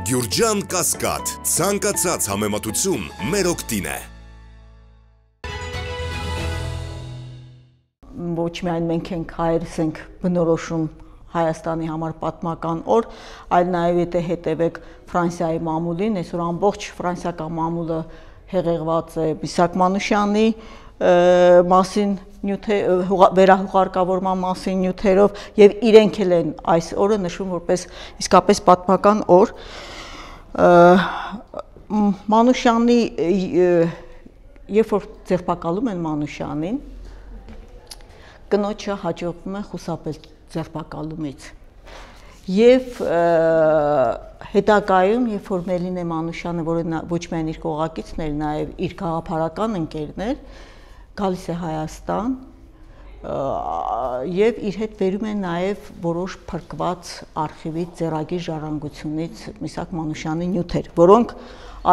Գյուրջան Կասկադ, ցանկացած համեմատություն մեր օգտին է։ Ոչ միայն մենք ենք հայերս ենք բնորոշում Հայաստանի համար պատմական օր, այլ նաև եթե հետևեք Ֆրանսիայի մամուլին, այսօր ամբողջ ֆրանսիական մամուլը հեղեղված է Միսաք Մանուշյանի մասին վերահուղարկավորման մասին նյութերով եւ իրենք էլ են այս օրը նշում որպես իսկապես պատմական օր։ Մանուշյանի երբ որ ձերբակալում են Մանուշյանին, կնոջը հաջողվում է խուսափել ձերբակալումից եւ հետագայում երբ որ Մելինե Մանուշյանը, որը ոչ միայն իր կողակիցն էր, նաեւ իր գաղափարական ընկերն էր, գալիս է Հայաստան եւ իր հետ բերում են նաեւ որոշ փրկված արխիվից, ձեռագիր ժառանգությունից Միսաք Մանուշյանի նյութեր, որոնք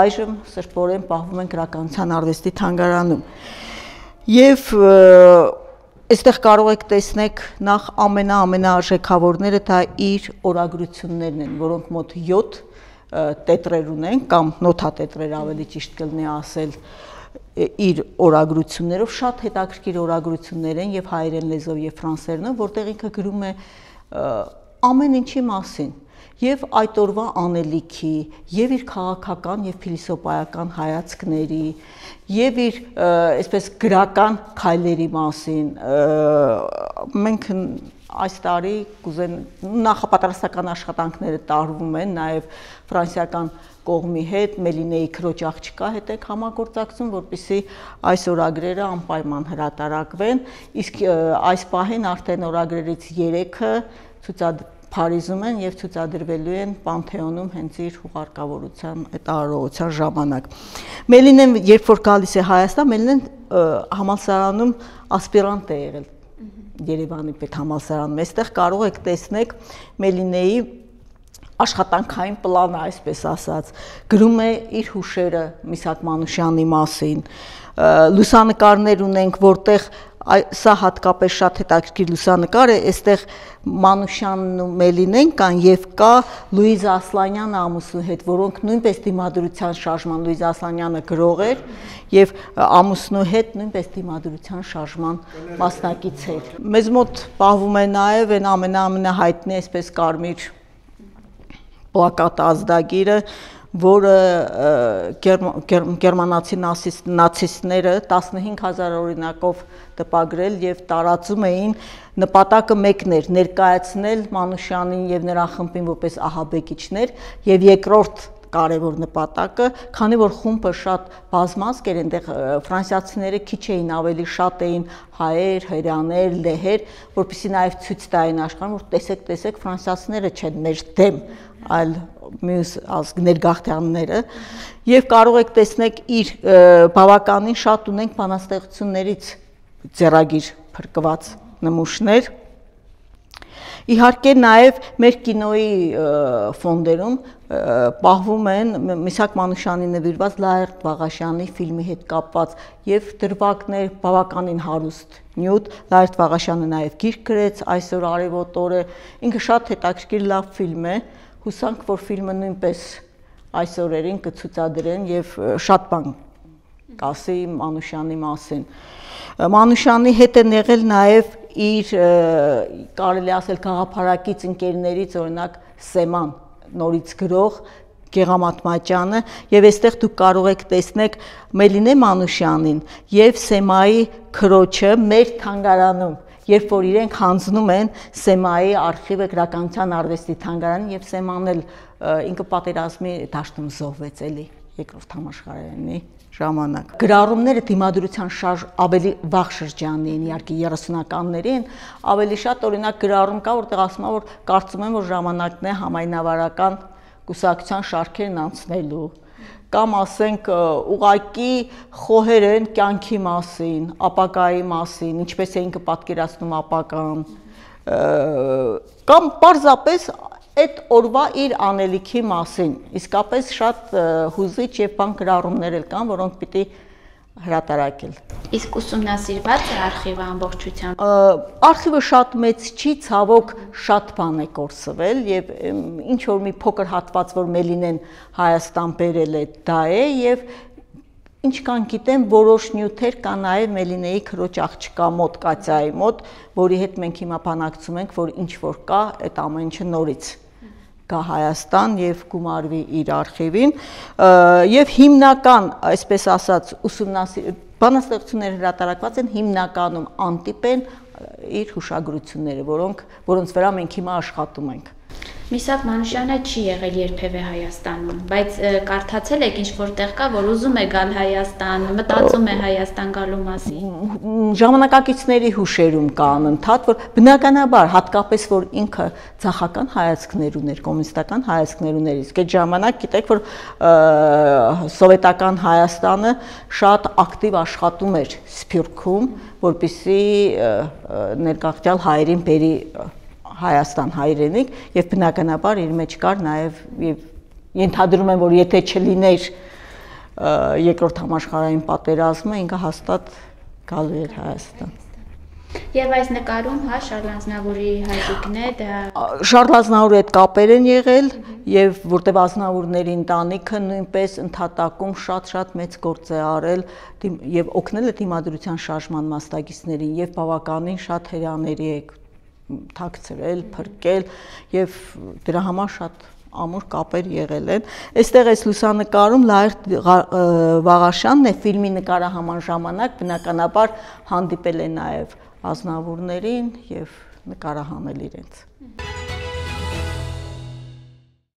այժմ սրբորեն պահվում են Գրականության արվեստի թանգարանում։ Եվ այստեղ կարող եք տեսնել նախ ամենաարժեքավորները դա իր օրագրություններն են, որոնք մոտ 7 տետրեր ունեն կամ նոթատետրեր ավելի ճիշտ կլինի ասել իր օրագրություններով, շատ հետաքրքիր օրագրություններ են եւ հայերեն լեզվով եւ ֆրանսերենով, որտեղ ինքը գրում է ամեն ինչի մասին եւ այդ օրվա անելիքի եւ իր քաղաքական եւ փիլիսոփայական հայացքների եւ իր այսպես գրական քայլերի մասին մենք այս տարի կուզեն նախապատրաստական աշխատանքները տարվում են նաեւ ֆրանսիական կողմի հետ Մելինեի քրոջ աղջկա հետ եք համագործակցում, որպեսզի այս օրագրերը անպայման հրատարակվեն, իսկ այս պահին արդեն օրագրերից 3-ը Փարիզում են եւ ցուցադրվելու են Պանթեոնում հենց իր հուղարկավորության այդ արարողության ժամանակ։ Մելինեն երբ որ գալիս է Հայաստան, Մելինեն համալսարանում ասպիրանտ է եղել Երևանի պետհամալսարանում։ Այստեղ կարող եք տեսնել Մելինեի աշխատանքային պլանը, այսպես ասած, գրում է իր հուշերը Միսաք Մանուշյանի մասին, լուսանկարներ ունենք, որտեղ սա հատկապես շատ հետաքրքիր լուսանկար է, այստեղ Մանուշյանն ու Մելինեն կան եւ կա Լուիզա Ասլանյանը ամուսնու հետ, որոնք նույնպես դիմադրության շարժման, Լուիզա Ասլանյանը գրող էր եւ ամուսնու հետ նույնպես դիմադրության շարժման մասնակից էր։ Մեզ մոտ պահվում է նաեւ այն ամենահայտնի այսպես կարմիր պլակատ ազդագիրը, որը գերմանացի նացիստները 15000 օրինակով տպագրել եւ տարածում էին, նպատակը մեկն էր՝ ներկայացնել Մանուշյանին եւ նրա խմբին որպես ահաբեկիչներ եւ երկրորդ կարևոր նպատակը, քանի որ խումբը շատ բազմազգ էր, այնտեղ ֆրանսիացիները քիչ էին, ավելի շատ էին հայեր, հրեաներ, լեհեր, որպեսզի նաեւ ցույց տային աշխարհին, որ տեսեք, ֆրանսիացիները չեն մեր դեմ, այլ մյուս ազգներ գաղթյալները եւ կարող եք տեսնել իր բավականին շատ ունենք բանաստեղծություններից ձեռագիր փրկված նմուշներ։ Իհարկե նաև մեր կինոյի ֆոնդերում պահվում են Միսաք Մանուշյանի նվիրված Լայրդ Վաղաշյանի ֆիլմի հետ կապված եւ դրվագներ, բավականին հարուստ նյութ։ Լայրդ Վաղաշյանը նաև գիրք գրեց այսօր արևոտ օրը, ինքը շատ հետաքրքիր լավ ֆիլմ է, հուսանք, որ ֆիլմը նույնպես այս օրերին կցուցադրեն եւ շատ բան կասի Մանուշյանի մասին։ Մանուշյանի հետ են եղել նաև իր կարելի ասել գաղափարակից ընկերներից, օրինակ Սեման, նորից գրող Գեղամատմաճյանը, եւ այստեղ դուք կարող եք տեսնել Մելինե Մանուշյանին եւ Սեմայի քրոջը մեր թանգարանում, երբ որ իրենք հանձնում են Սեմայի արխիվը Գրականության արվեստի թանգարանին եւ Սեման էլ ինքը պատերազմի դաշտում զոհվեց էլի երկրորդ համաշխարհայինի ժամանակ։ Գրառումները դիմադրության ավելի վաղ շրջանի են, իհարկե 30-ականներին, ավելի շատ օրինակ գրառում կա, որտեղ ասում է, որ կարծում եմ, որ ժամանակն է համայնավարական կուսակցության շարքերն անցնելու, կամ ասենք ուղակի խոհեր են կյանքի մասին, ապագայի մասին, ինչպես է ինքը պատկերացնում ապագան, կամ պարզապես այդ օրվա իր անելիքի մասին, իսկապես շատ հուզիչ եւ բան գրառումներ էլ կան, որոնք պիտի հրատարակել։ Իսկ ուսումնասիրված է արխիվը ամբողջությամբ։ Արխիվը շատ մեծ չի, ցավոք շատ բան է կորսվել եւ ինչ որ մի փոքր հատված, որ Մելինեն Հայաստան բերել է, դա է եւ ինչ կան գիտեմ, որոշ նյութեր կա նաեւ Մելինեի քրոջ աղջկա մոտ, Կատյայի մոտ, որի հետ մենք հիմա բանակցում ենք, որ ինչ որ կա, այդ ամեն ինչը նորից գա Հայաստան եւ գումարվի իր արխիվին եւ հիմնական, այսպես ասած, բանաստեղծությունները հրատարակված են հիմնականում անտիպ են իր հուշագրությունները, որոնց վրա մենք հիմա աշխատում ենք։ Միսակ Մանուշյանը չի եղել երբևէ Հայաստանում, բայց կարդացել եք ինչ-որ տեղ կա, որ ուզում է գալ Հայաստան, մտածում է Հայաստան գալու մասին։ Ժամանակակիցների հուշերում կա անընդհատ, որ բնականաբար հատկապես որ ինքը ցախական հայացքներ ուներ, կոմունիստական հայացքներ ուներ, իսկ այդ ժամանակ գիտեք, որ սովետական Հայաստանը շատ ակտիվ աշխատում էր Սփյուռքում, որպեսզի ներգաղթյալ հայերին բերի Հայաստան հայրենիք եւ բնականաբար իր մեջ կար նաեւ ենթադրում եմ, որ եթե չլիներ երկրորդ համաշխարհային պատերազմը, ինքը հաստատ գալու էր Հայաստան։ Եվ այս նկարում, հա, Շարլ Ազնավուրի հայրիկն է, դա Շարլ Ազնավուրի հետ կապեր են եղել եւ որտեւ Ազնավուրների ընտանիքը նույնպես ընդհատակում շատ մեծ գործ է արել եւ օգնել է դիմադրության շարժման մասնակիցներին եւ բավականին շատ հրեաների է թաքցրել, փրկել եւ դրա համար շատ ամուր կապեր եղել են։ Այստեղ այս լուսանկարում Լայր Վաղաշյանն է ֆիլմի նկարահանման ժամանակ բնականաբար հանդիպել է նաեւ Ազնավուրներին եւ նկարահանել իրենց։